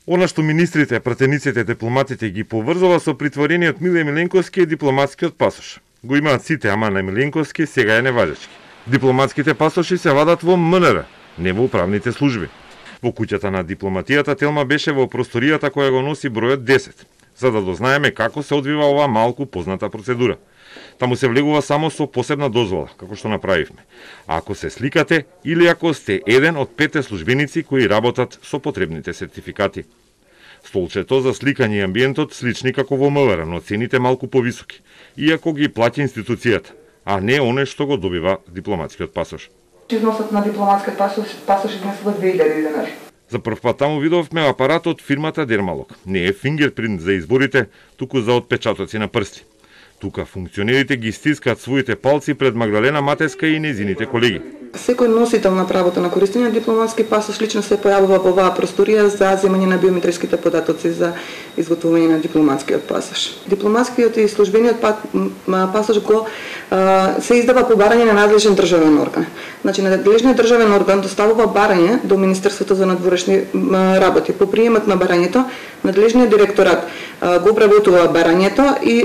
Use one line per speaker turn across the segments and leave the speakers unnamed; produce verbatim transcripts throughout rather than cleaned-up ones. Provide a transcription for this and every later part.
Она што министрите, пратениците, дипломатите ги поврзува со притворениот Миле Миленковски е дипломатскиот пасош. Го имаат сите, ама на Миленковски сега е неважечки. Дипломатските пасоши се вадат во М Н Р, не во управните служби. Во куќата на дипломатијата Телма беше во просторијата која го носи бројот десет, за да дознаеме како се одвива оваа малку позната процедура. Таму се влегува само со посебна дозвола, како што направивме. А ако се сликате или ако сте еден од петте службеници кои работат со потребните сертификати. Столчето за сликање и амбиентот слични како во М В Р, но цените малку повисоки, иако ги плаќа институцијата, а не оне што го добива дипломатскиот пасош.
Износот на дипломатскиот пасош, пасош изнесува две илјади денари.
За прв пат таму видовме апарат од фирмата Дермалог. Не е фингерпринт за изборите, туку за отпечатоци на прсти. Тука функционерите ги стискаат своите палци пред Магдалена Матеска и незините колеги.
Секој носител на правото на користење на дипломатски пасош лично се појавува во оваа просторија за земање на биометриските податоци за изготвување на дипломатскиот пасош. Дипломатскиот и службениот пасош го се издава по барање на надлежен државен орган. Значи, надлежниот државен орган доставува барање до Министерството за надворешни работи. По приемот на барањето, надлежниот директорат го обработува барањето и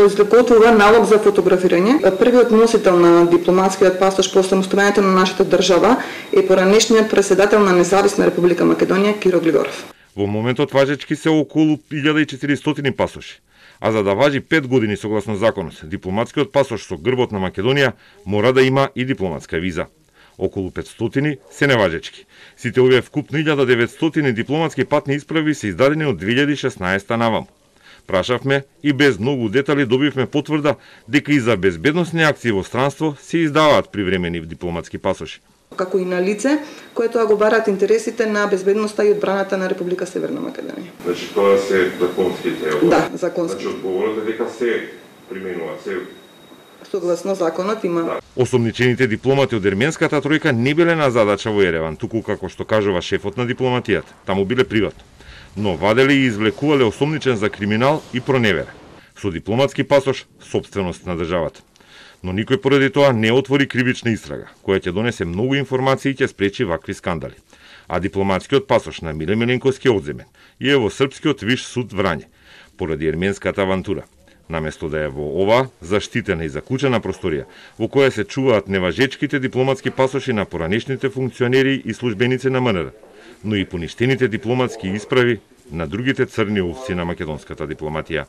изготвува налог за фотографирање. Првиот носител на дипломатскиот пасош по самостојањето на нашата држава е поранешниот претседател на Независна Република Македонија Киро Глигоров.
Во моментот важечки се околу илјада и четиристотини пасоши. А за да важи пет години согласно законот, дипломатскиот пасош со грбот на Македонија мора да има и дипломатска виза. Околу петстотини се неважечки. Сите овие вкупно илјада деветстотини дипломатски патни исправи се издадени од две илјади и шеснаесета наваму. Прашавме и без многу детали добивме потврда дека и за безбедносни акции во странство се издаваат привремени дипломатски пасоши.
Како и на лице кое тоа го бараат интересите на безбедноста и одбраната на Република Северна Македонија.
Значи тоа се законските?
Да, законски.
Значи одговорот е дека се применува, се
согласно законот има. Да.
Осомничените дипломати од ерменската тројка не биле на задача во Ереван, туку како што кажува шефот на дипломатијата, таму биле приватно. Но ваделе и извлекувале осомничен за криминал и проневера. Со дипломатски пасош, собственост на државата. Но никој поради тоа не отвори кривична истрага, која ќе донесе многу информации и ќе спречи вакви скандали. А дипломатскиот пасош на Миле Миленковски е одземен и е во Српскиот виш суд Врање, поради ерменската авантура. Наместо да е во ова заштитена и заклучена просторија, во која се чуваат неважечките дипломатски пасоши на поранешните функционери и службеници на М Н Р, но и поништените дипломатски исправи на другите црни овци на македонската дипломатија.